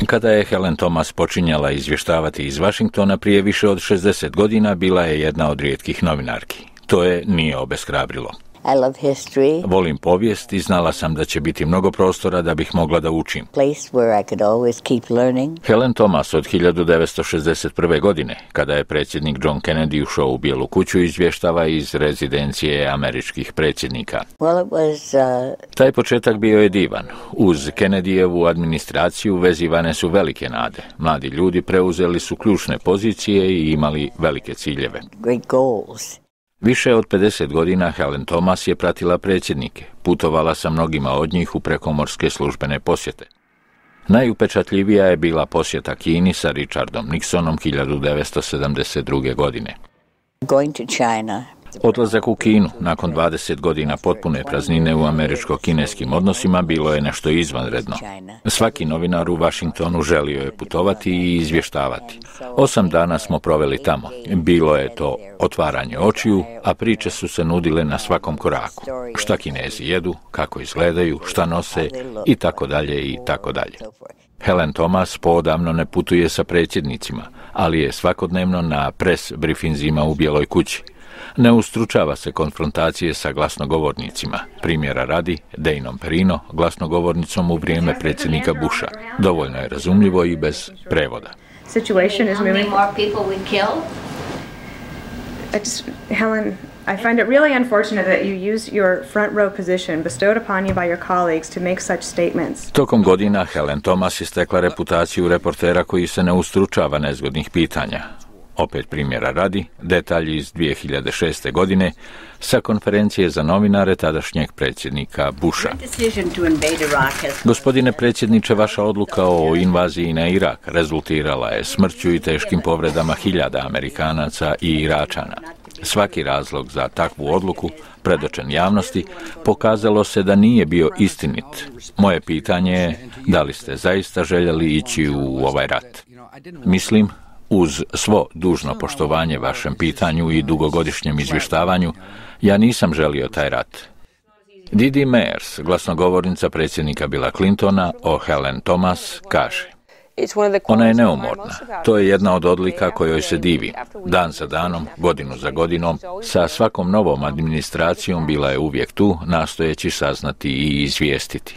Kada je Helen Thomas počinjala izvještavati iz Washingtona prije više od 60 godina, bila je jedna od rijetkih novinarki. To je nije obeshrabrilo. Volim povijest i znala sam da će biti mnogo prostora da bih mogla da učim. Helen Thomas od 1961. godine, kada je predsjednik John Kennedy ušao u Bijelu kuću, izvještava iz rezidencije američkih predsjednika. Taj početak bio je divan. Uz Kennedyjevu administraciju vezivane su velike nade. Mladi ljudi preuzeli su ključne pozicije i imali velike ciljeve. Više od 50 godina Helen Thomas je pratila predsjednike, putovala sa mnogima od njih u prekomorske službene posjete. Najupečatljivija je bila posjeta Kini sa Richardom Nixonom 1972. godine. Odlazak u Kinu nakon 20 godina potpune praznine u američko-kineskim odnosima bilo je nešto izvanredno. Svaki novinar u Washingtonu želio je putovati i izvještavati. 8 dana smo proveli tamo. Bilo je to otvaranje očiju, a priče su se nudile na svakom koraku. Šta Kinezi jedu, kako izgledaju, šta nose i tako dalje i tako dalje. Helen Thomas poodavno ne putuje sa predsjednicima, ali je svakodnevno na press briefinzima u Bijeloj kući. Ne ustručava se konfrontacije sa glasnogovornicima. Primjera radi, Danom Perino, glasnogovornicom u vrijeme predsjednika Busha. Dovoljno je razumljivo i bez prevoda. Helen, I find it really unfortunate that you use your front row position bestowed upon you by your colleagues to make such statements. Tokom godina Helen Thomas je stekla reputaciju reportera koji se ne ustručava nezgodnih pitanja. Opet primjera radi, detalji iz 2006. godine sa konferencije za novinare tadašnjeg predsjednika Busha. Gospodine predsjedniče, vaša odluka o invaziji na Irak rezultirala je smrću i teškim povredama hiljada Amerikanaca i Iračana. Svaki razlog za takvu odluku, predočen javnosti, pokazalo se da nije bio istinit. Moje pitanje je, da li ste zaista željeli ići u ovaj rat? Mislim, uz svo dužno poštovanje vašem pitanju i dugogodišnjem izvještavanju, ja nisam želio taj rat. Didi Meyers, glasnogovornica predsjednika Billa Clintona, o Helen Thomas kaže: ona je neumorna. To je jedna od odlika kojoj se divi. Dan za danom, godinu za godinom, sa svakom novom administracijom bila je uvijek tu, nastojeći saznati i izvijestiti.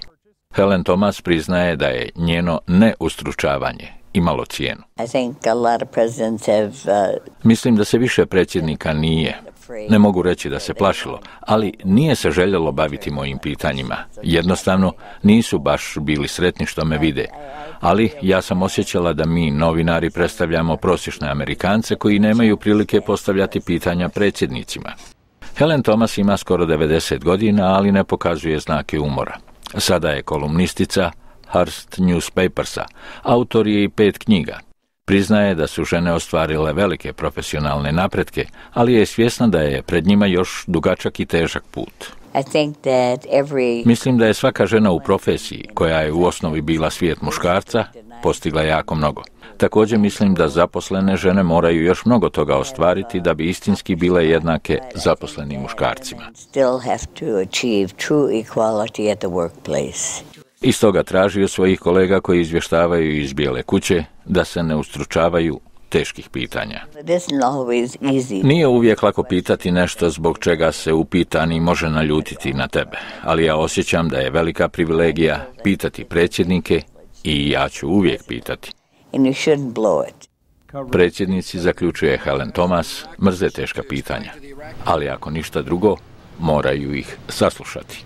Helen Thomas priznaje da je njeno neustručavanje imalo cijenu. Mislim da se više predsjednika nije. Ne mogu reći da se plašilo, ali nije se željelo baviti mojim pitanjima. Jednostavno, nisu baš bili sretni što me vide. Ali ja sam osjećala da mi, novinari, predstavljamo prosječne Amerikance koji nemaju prilike postavljati pitanja predsjednicima. Helen Thomas ima skoro 90 godina, ali ne pokazuje znake umora. Sada je kolumnistica Hearst Newspapersa, autor je i 5 knjiga. Priznaje da su žene ostvarile velike profesionalne napretke, ali je svjesna da je pred njima još dugačak i težak put. Mislim da je svaka žena u profesiji, koja je u osnovi bila svijet muškarca, postigla jako mnogo. Također mislim da zaposlene žene moraju još mnogo toga ostvariti da bi istinski bile jednake zaposlenim muškarcima. I stoga traži od svojih kolega koji izvještavaju iz Bijele kuće da se ne ustručavaju teških pitanja. Nije uvijek lako pitati nešto zbog čega se upitani može naljutiti na tebe, ali ja osjećam da je velika privilegija pitati predsjednike i ja ću uvijek pitati. Predsjednici, zaključuje Helen Thomas, mrze teška pitanja, ali ako ništa drugo, moraju ih saslušati.